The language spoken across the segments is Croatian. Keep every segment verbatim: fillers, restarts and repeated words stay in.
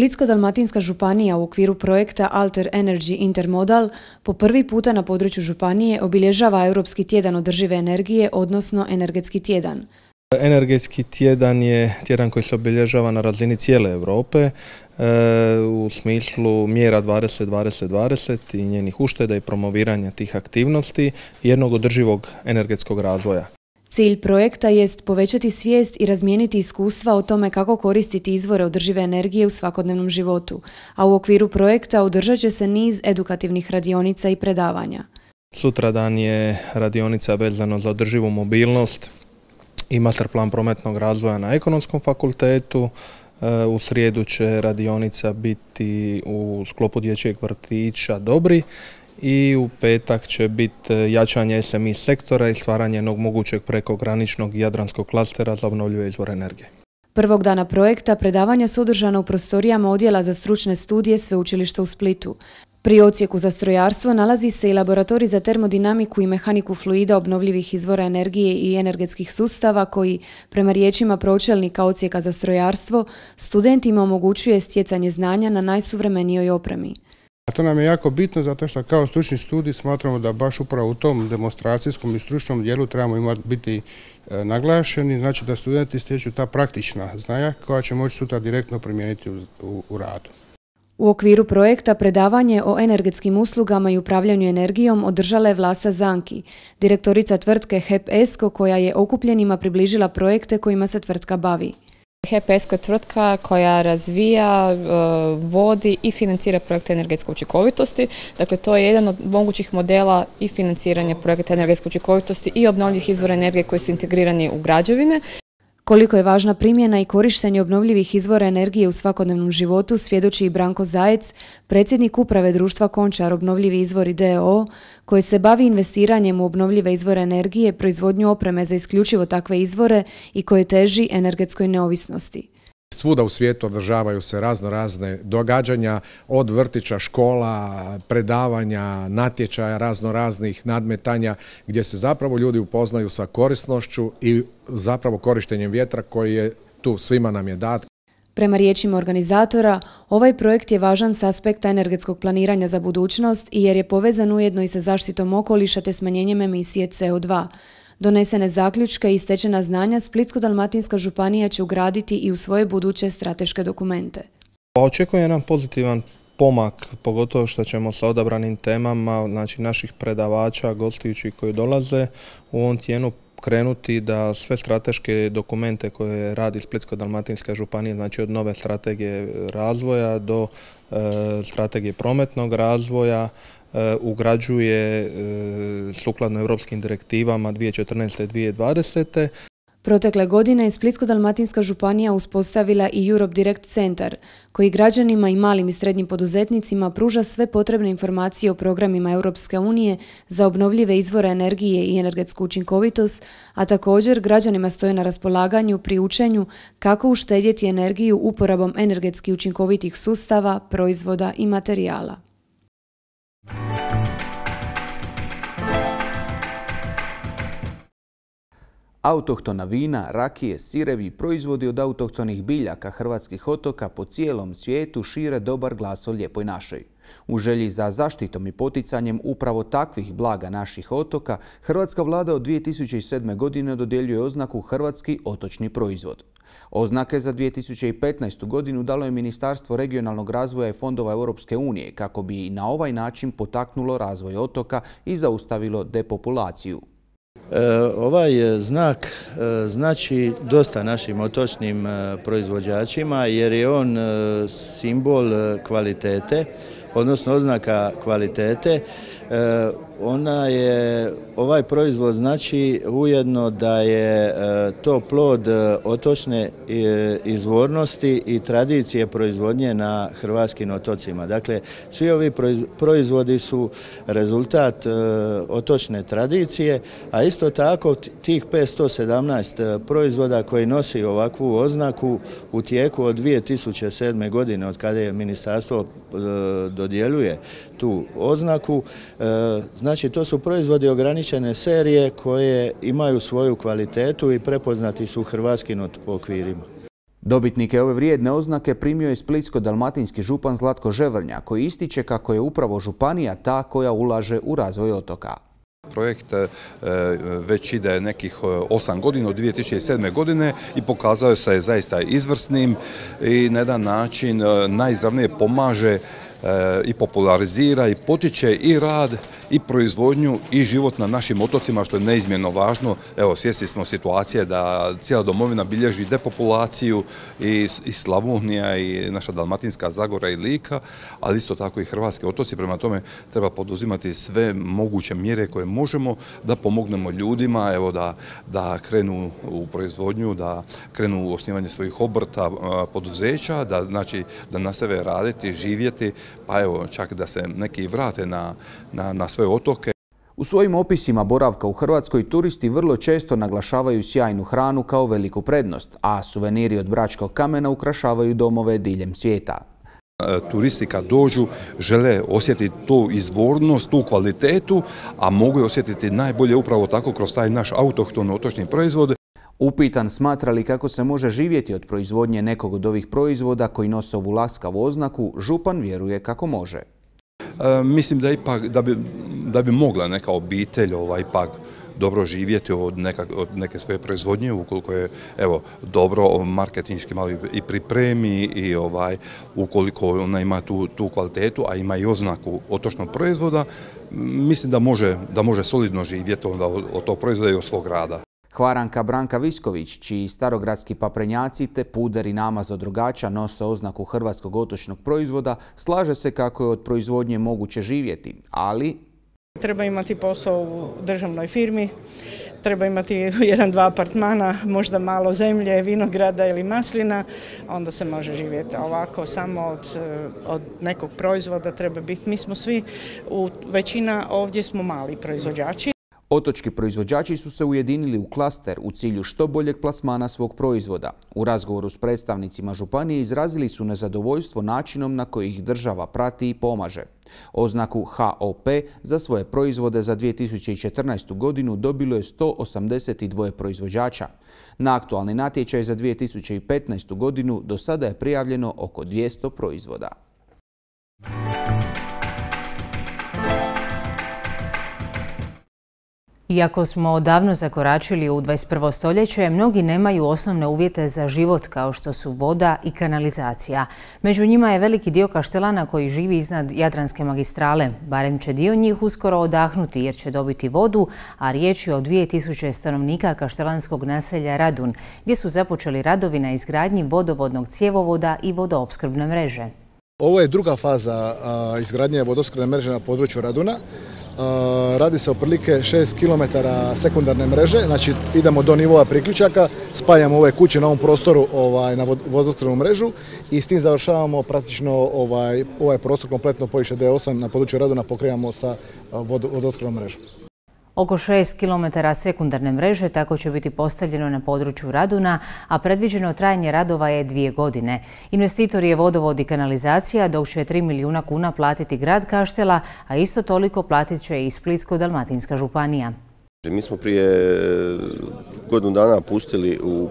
Splitsko-dalmatinska županija u okviru projekta Alter Energy Intermodal po prvi puta na području županije obilježava Europski tjedan održive energije, odnosno Energetski tjedan. Energetski tjedan je tjedan koji se obilježava na razini cijele Europe e, u smislu mjera dvadeset dvadeset dvadeset i njenih ušteda i promoviranja tih aktivnosti i jednog održivog energetskog razvoja. Cilj projekta jest povećati svijest i razmijeniti iskustva o tome kako koristiti izvore održive energije u svakodnevnom životu, a u okviru projekta održat će se niz edukativnih radionica i predavanja. Sutradan je radionica vezano za održivu mobilnost i master plan prometnog razvoja na Ekonomskom fakultetu. U srijedu će radionica biti u sklopu dječjeg vrtića Dobri i u petak će biti jačanje S M I sektora i stvaranje jednog mogućeg prekograničnog jadranskog klastera za obnovljive izvore energije. Prvog dana projekta predavanja su održana u prostorijama Odjela za stručne studije Sveučilišta u Splitu. Pri odsjeku za strojarstvo nalazi se i laboratorij za termodinamiku i mehaniku fluida obnovljivih izvora energije i energetskih sustava koji, prema riječima pročelnika odsjeka za strojarstvo, studentima omogućuje stjecanje znanja na najsuvremenijoj opremi. To nam je jako bitno zato što kao stručni studij smatramo da baš upravo u tom demonstracijskom i stručnom dijelu trebamo imati biti e, naglašeni, znači da studenti stječu ta praktična znanja koja će moći sutra direktno primijeniti u, u, u radu. U okviru projekta predavanje o energetskim uslugama i upravljanju energijom održala je Vlasta Zanki, direktorica tvrtke H E P ESCO koja je okupljenima približila projekte kojima se tvrtka bavi. H E P ESCO je tvrtka koja razvija, vodi i financira projekte energetske učinkovitosti. Dakle, to je jedan od mogućih modela i financiranja projekta energetske učinkovitosti i obnovljivih izvora energije koji su integrirani u građevine. Koliko je važna primjena i korištenje obnovljivih izvora energije u svakodnevnom životu svjedoči i Branko Zajec, predsjednik uprave društva Končar Obnovljivi izvori d o o, koji se bavi investiranjem u obnovljive izvore energije, proizvodnju opreme za isključivo takve izvore i koje teži energetskoj neovisnosti. Svuda u svijetu održavaju se razno razne događanja, od vrtića, škola, predavanja, natječaja, razno raznih nadmetanja gdje se zapravo ljudi upoznaju sa korisnošću i zapravo korištenjem vjetra koji je tu, svima nam je dat. Prema riječima organizatora, ovaj projekt je važan s aspekta energetskog planiranja za budućnost i jer je povezan ujedno i sa zaštitom okoliša te smanjenjem emisije C O dva. Donesene zaključke i stečena znanja Splitsko-dalmatinska županija će ugraditi i u svoje buduće strateške dokumente. Očekuje nam pozitivan pomak, pogotovo što ćemo sa odabranim temama, znači naših predavača, gostujućih koji dolaze u ovom tjednu krenuti da sve strateške dokumente koje radi Splitsko-dalmatinska županija, znači od nove strategije razvoja do e, strategije prometnog razvoja, ugrađuje sukladno europskim direktivama dvije tisuće četrnaeste do dvije tisuće dvadesete. Protekle godine je Splitsko-dalmatinska županija uspostavila i Europe Direct Centar, koji građanima i malim i srednjim poduzetnicima pruža sve potrebne informacije o programima Europske unije za obnovljive izvore energije i energetsku učinkovitost, a također građanima stoje na raspolaganju pri učenju kako uštedjeti energiju uporabom energetski učinkovitih sustava, proizvoda i materijala. Autohtona vina, rakije, sirevi i proizvodi od autohtonih biljaka hrvatskih otoka po cijelom svijetu šire dobar glas o lijepoj našoj. U želji za zaštitom i poticanjem upravo takvih blaga naših otoka, hrvatska vlada od dvije tisuće sedme. godine dodjeljuje oznaku Hrvatski otočni proizvod. Oznake za dvije tisuće petnaestu. godinu dalo je Ministarstvo regionalnog razvoja i fondova Europske unije kako bi na ovaj način potaknulo razvoj otoka i zaustavilo depopulaciju. Ovaj znak znači dosta našim otočnim proizvođačima jer je on simbol kvalitete, odnosno oznaka kvalitete. Ona je, ovaj proizvod znači ujedno da je to plod otočne izvornosti i tradicije proizvodnje na hrvatskim otocima. Dakle, svi ovi proizvodi su rezultat otočne tradicije, a isto tako tih petsto sedamnaest proizvoda koji nosi ovakvu oznaku u tijeku od dvije tisuće sedme. godine, od kada je ministarstvo dodjeljuje tu oznaku, znači to su proizvodi ograničene serije koje imaju svoju kvalitetu i prepoznati su u hrvatskim okvirima. Dobitnike ove vrijedne oznake primio je splitsko-dalmatinski župan Zlatko Ževrnja, koji ističe kako je upravo županija ta koja ulaže u razvoj otoka. Projekt već ide nekih osam godina, od dvije tisuće sedme. godine i pokazao se je zaista izvrsnim i na jedan način najizravnije pomaže i popularizira i potiče i rad i proizvodnju i život na našim otocima, što je neizmjerno važno. Evo, svjesni smo situacije da cijela domovina bilježi depopulaciju i, i Slavonija i naša Dalmatinska Zagora i Lika, ali isto tako i hrvatski otoci. Prema tome treba poduzimati sve moguće mjere koje možemo da pomognemo ljudima, evo, da, da krenu u proizvodnju, da krenu u osnivanje svojih obrta, poduzeća, da, znači, da nastave raditi, živjeti, pa evo, čak da se neki vrate na, na, na svoje otoke. U svojim opisima boravka u Hrvatskoj turisti vrlo često naglašavaju sjajnu hranu kao veliku prednost, a suveniri od bračkog kamena ukrašavaju domove diljem svijeta. Turisti kad dođu žele osjetiti tu izvornost, tu kvalitetu, a mogu je osjetiti najbolje upravo tako kroz taj naš autohton otočni proizvod. Upitan smatra li kako se može živjeti od proizvodnje nekog od ovih proizvoda koji nose ovu laskavu oznaku, župan vjeruje kako može. E, mislim da ipak da bi, da bi mogla neka obitelj ovaj, ipak dobro živjeti od, neka, od neke svoje proizvodnje, ukoliko je evo, dobro marketinški malo i pripremi i ovaj, ukoliko ona ima tu, tu kvalitetu, a ima i oznaku otočnog proizvoda, mislim da može, da može solidno živjeti onda od, od tog proizvoda i od svog rada. Hvaranka Branka Visković, čiji starogradski paprenjaci te puder i namaz od rogača nose oznaku hrvatskog otočnog proizvoda, slaže se kako je od proizvodnje moguće živjeti, ali treba imati posao u državnoj firmi, treba imati jedan, dva apartmana, možda malo zemlje, vinograda ili maslina, onda se može živjeti. Ovako samo od, od nekog proizvoda treba biti. Mi smo svi, u, većina ovdje smo mali proizvođači. Otočki proizvođači su se ujedinili u klaster u cilju što boljeg plasmana svog proizvoda. U razgovoru s predstavnicima županije izrazili su nezadovoljstvo načinom na koji ih država prati i pomaže. Oznaku H O P za svoje proizvode za dvije tisuće četrnaestu. godinu dobilo je sto osamdeset dva proizvođača. Na aktualni natječaj za dvije tisuće petnaestu. godinu do sada je prijavljeno oko dvjesto proizvoda. Iako smo odavno zakoračili u dvadeset prvo. stoljeće, mnogi nemaju osnovne uvjete za život kao što su voda i kanalizacija. Među njima je veliki dio Kaštelana koji živi iznad Jadranske magistrale. Barem će dio njih uskoro odahnuti jer će dobiti vodu, a riječ je o dvije tisuće stanovnika kaštelanskog naselja Radun, gdje su započeli radovi na izgradnji vodovodnog cjevovoda i vodoopskrbne mreže. Ovo je druga faza izgradnje vodoopskrbne mreže na području Raduna. Radi se o prilike šest kilometara sekundarne mreže, znači idemo do nivoa priključaka, spajamo ove kuće na ovom prostoru ovaj, na vodoopskrbnu mrežu i s tim završavamo praktično ovaj, ovaj prostor kompletno poviše D osam na području Raduna pokrivamo sa vodoopskrbnom mrežom. Oko šest kilometara sekundarne mreže tako će biti postavljeno na području Raduna, a predviđeno trajanje radova je dvije godine. Investitor je vodovod i kanalizacija, dok će tri milijuna kuna platiti grad Kaštela, a isto toliko platit će i Splitsko-dalmatinska županija. Mi smo prije godinu dana pustili u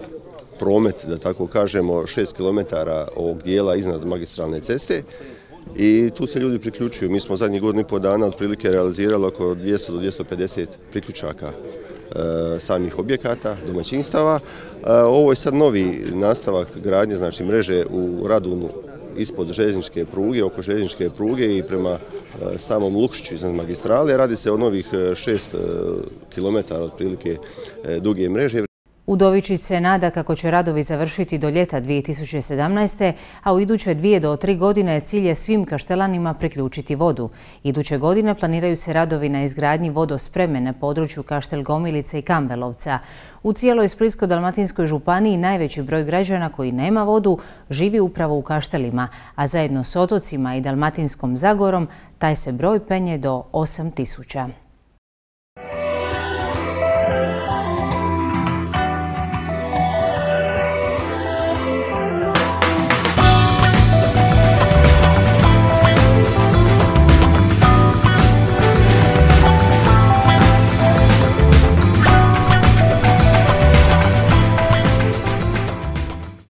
promet, da tako kažemo, šest kilometara ovog dijela iznad magistralne ceste. I tu se ljudi priključuju. Mi smo zadnjih godinu i pol dana otprilike realizirali oko dvjesto do dvjesto pedeset priključaka e, samih objekata, domaćinstava. E, ovo je sad novi nastavak gradnje, znači mreže u Radunu ispod željezničke pruge, oko željezničke pruge i prema e, samom Lukšiću iznad magistrale. Radi se o novih šest kilometara otprilike e, duge mreže. Udovičić se nada kako će radovi završiti do ljeta dvije tisuće sedamnaeste. a u iduće dvije do tri godine cilj je svim Kaštelanima priključiti vodu. Iduće godine planiraju se radovi na izgradnji vodospreme na području Kaštel Gomilice i Kambelovca. U cijeloj Splitsko-dalmatinskoj županiji najveći broj građana koji nema vodu živi upravo u Kaštelima, a zajedno s otocima i Dalmatinskom Zagorom taj se broj penje do osam tisuća.